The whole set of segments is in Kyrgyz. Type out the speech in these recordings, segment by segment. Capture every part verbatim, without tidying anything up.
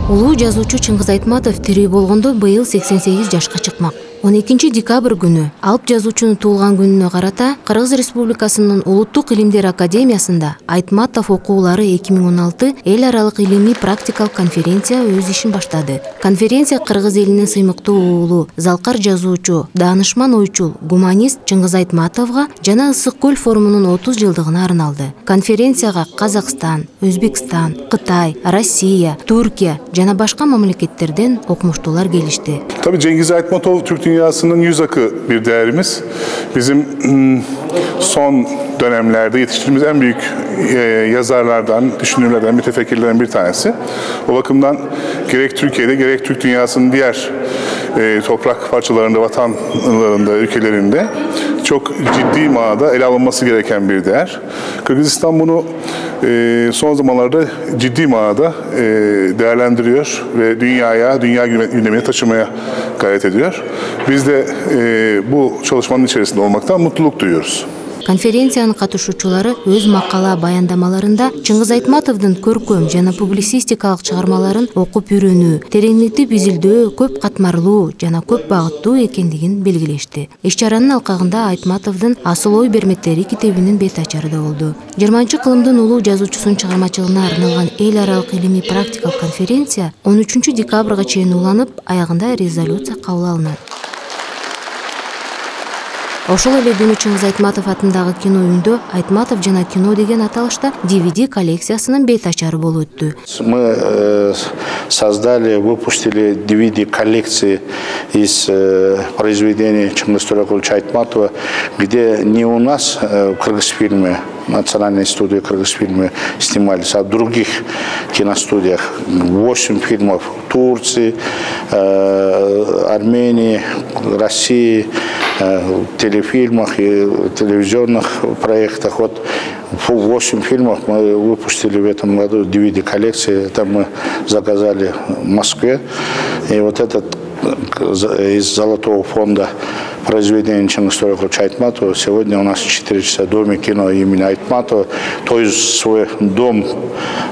Улуу жазуучу Чыңгыз Айтматов тирүү болгондо быйыл сексен сегиз жашка чыкмак. он экинчи декабрь күнү алып жазуучунун туулган күнүнө карата Кыргыз Республикасынын Улуттук илимдер академиясында Айтматов окуулары эки миң он алты эл аралык илимий практикалык конференция өз ишин баштады. Конференция Кыргыз элинин сыймыктуу уулу, залкар жазуучу, даанышман ойчул, гуманист Чыңгыз Айтматовго жана Ысык көл форумунун отуз жылдыгына арналды. Конференцияга Казакстан, Өзбекстан, Кытай, Россия, Түркия жана башка мамлекеттерден окумуштуулар келишти. Tabii Cengiz Aytmatov Türk dünyasının yüz akı bir değerimiz. Bizim son dönemlerde yetiştirdiğimiz en büyük yazarlardan, düşünürlerden, mütefekkirlerden bir tanesi. O bakımdan gerek Türkiye'de gerek Türk dünyasının diğer toprak parçalarında, vatanlarında, ülkelerinde çok ciddi manada ele alınması gereken bir değer. Kırgızistan bunu son zamanlarda ciddi manada değerlendiriyor ve dünyaya, dünya gündemine taşımaya gayret ediyor. Biz de bu çalışmanın içerisinde olmaktan mutluluk duyuyoruz. Конференциянын катышуучулары өз макала баяндамаларында Чыңгыз Айтматовдун көркөм жана публицистикалык чыгармаларын окуп үйрөнүү, тереңдетип изилдөө көп катмарлуу жана көп багыттуу экендигин белгилешти. Иш-чаранын алкагында Айтматовдун Асыл ой бермектери китебинин бет ачары да болду. жыйырманчы кылымдын улуу жазуучусунун чыгармачылыгына арналган эл аралык илимий практикалык конференция он үчүнчү декабрга чейин уланып, аягында резолюция кабыл алынат. Ошол эле күнү Чыңгыз Айтматов атындагы кино үйүндө Айтматов жана кино деген аталышта ди ви ди коллекциясынын бет ачары болуп өттү. Мы э, создали, выпустили ди ви ди коллекции из э, произведений Чыңгыз Торекуловича Айтматова, где не у нас э, в Кыргызфильме, национальной студии Кыргызфильме снимались, а в других киностудиях. Восемь фильмов в Турции, э, Армении, России, в телефильмах и телевизионных проектах. Вот восемь фильмов мы выпустили в этом году, ди ви ди коллекции. Это мы заказали в Москве. И вот этот из Золотого фонда произведения Чыңгыз Торекуловича Айтматова сегодня у нас в четыре часа в Доме кино имени Айтматова. То есть свой дом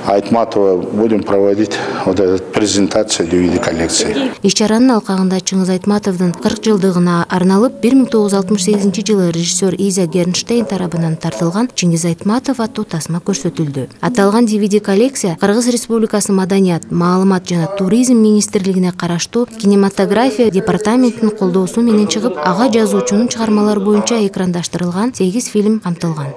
Айтматова будем проводить вот эту презентацию ди ви ди коллекции. Иш-чаранын алкагында Чыңгыз Айтматовдун кырк жылдыгына арналып бир миң тогуз жүз алтымыш сегизинчи жылы режиссер Иза Гернштейн тарабынан тартылган Чыңгыз Айтматов аттуу тасма көрсөтүлдү. Аталган ди ви ди коллекция Кыргыз Республикасынын Маданият, маалымат жана туризм министрлигине караштуу кинематография департаментинин колдоосу менен чыгып, ага жазуучунун чыгармалары боюнча экрандаштырылган сегиз фильм камтылган.